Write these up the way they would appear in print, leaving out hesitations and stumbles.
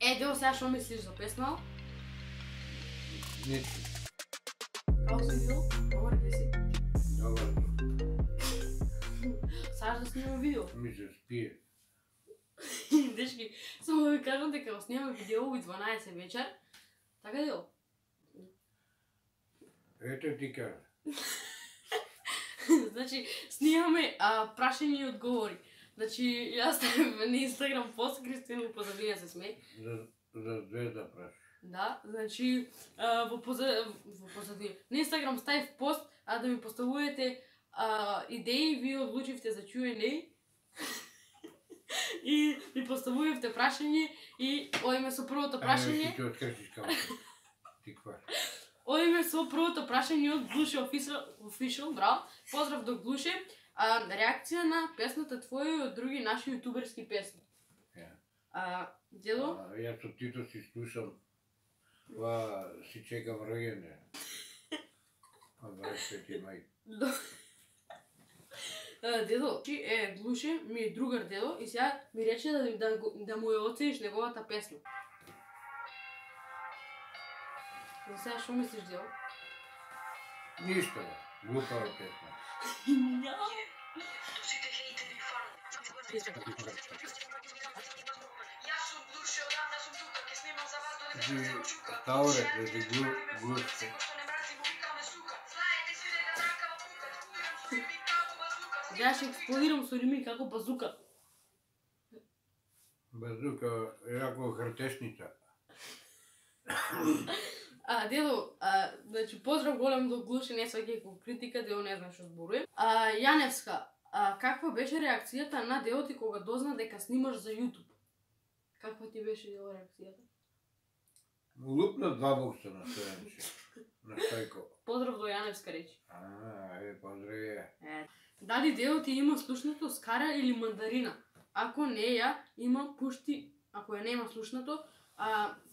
Део, сега што мислиш за песна? Ничи. Како си видео? Добар ли си? Добар. Саш да снимам видео? Ми се спие. Дечки, само да ви кажам дека го снимаме видео у 12 вечер. Така Део? Ето ти кажа. Значи, снимаме прашање и одговори. Значи, јас ставам на Инстаграм пост, Кристина позадина се смее. За звезда праш. Да, значи, во позадина. На Инстаграм ставив пост, да ми поставувате идеи, вие одлучивте за Q&A. И ми поставувате прашање и оиме со првото прашање. Ти откршиш камера. Ти кваш. Оиме со првото прашање од Глуше Official, браво. Поздрав до Глуше. Реакција на песната твоја и од други наши јутуберски песни. Дело? Јас со Тито си слушам, си чекам роѓенде. 25 мај. Дедо, Глуше ми е другар дедо и сега ми рече да му ја оцениш неговата песна. Но сега што мислиш, дедо? Ништо, глупава песна. Сите хейтери фарат. Јас сум Глуше, одамна сум тука, ке снимам за вас додека што се очука. Тауре, да Глуше. Секој што не мрази му викаме сука. Знаете си дека тракава пука, експлодирам со рими како базука. Ја ќе експлодирам со рими како базука. Базука е како хртешница. Дедо, значи поздрав голем до Глуше, не сваќај како критика, Дедо не знае што зборувам. Јаневска, каква беше реакцијата на Дедо ти кога дозна дека снимаш за YouTube? Каква ти беше Дедо реакцијата? Лупна 2 бокса на стојанче. На стојко. Поздрав до Јаневска речи. Поздраве. Дали Дедо ти има слушнато скара или мандарина? Ако не ја има, пушти, ако ја нема слушнато,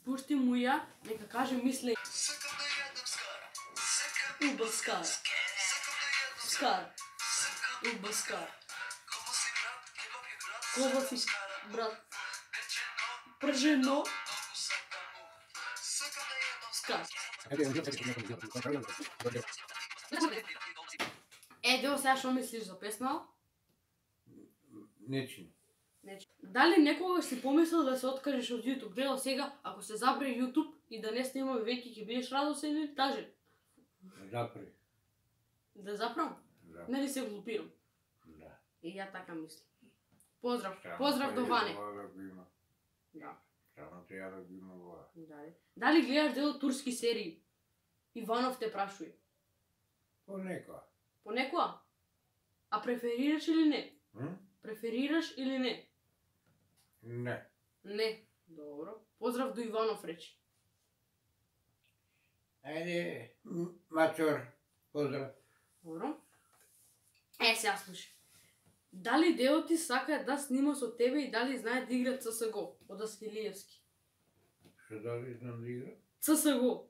пушти му ја, нека каже мисле. Сакам да јадам скара. Уба скар. Скар. Уба скар. Кого си брат? Пржено. Скар. Део, сега што мислиш за песна? Нечи. Дали некогаш си помислил да се откажеш од YouTube? Део, сега, ако се забре YouTube и да не снимаме веќе, ќе бидеш радосен или тажен? Запри. Да запрам? Да. Нели се глупирам? Да. И ја така мислам. Поздрав до Ване. Да. Само те ја да го има ова. Дали гледаш Дедо турски серии? Иванов те прашува. Понекоја. Понекоја? А преферираш или не? Преферираш или не? Не. Не. Добро. Поздрав до Иванов речи. Ајде, мачор, поздрав. Добро. Сега слушай. Дали Дедо ти сака да снима со тебе и дали знае да игра CSGO од Аскилиевски? Што дали знам да игра? CSGO.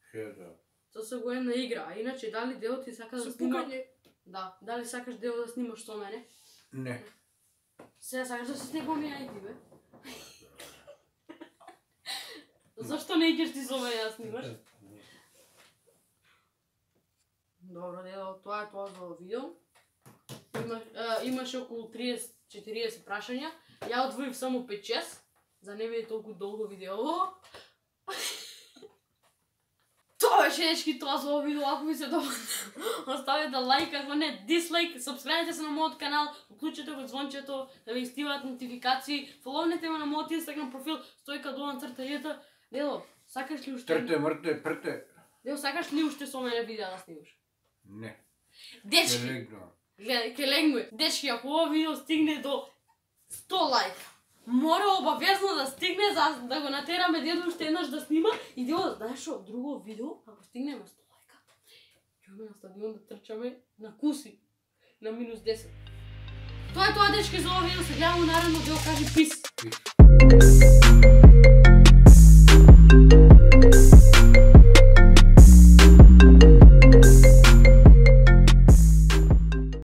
Што е тоа? CSGO е на игра, а иначе дали Дедо ти сака да снима? Да, дали сакаш Дедо да снимаш со мене? Не. Сега сакаш да се снегуваме ја и ти, бе? Зашто не идеш ти со мене да снимаш? Добро, Дедо, тоа е тоа за видео. Имаше околу 30-40 прашања. Ја одвоив само 5-6, за не биде толку долго видео. Тоа беше дечки тоа за овој видео, ако ви се допадна, оставете лайк, ако не дислайк, сабскрајбете се на мојот канал, уклучете го звончето да ви стиваат нотификации, фоловнете ме на мојот Инстаграм профил _J. Дедо, сакаш ли уште? Трте, мрте, прте. Дедо, сакаш ли уште со мене видео да снимаш? Не. Дечки, ке легнуе. Дечки, ако ова видео стигне до 100 лайка, мора обавезно да стигне за да го натераме Дедо уште еднаш да снима и Дедо, знаеш што, друго видео, ако стигнеме 100 лайка, ќе на стадион да трчаме на куси на -10. Тоа е тоа, дечки, за ова видео, се гледаме наредно, Дедо, кажи пис.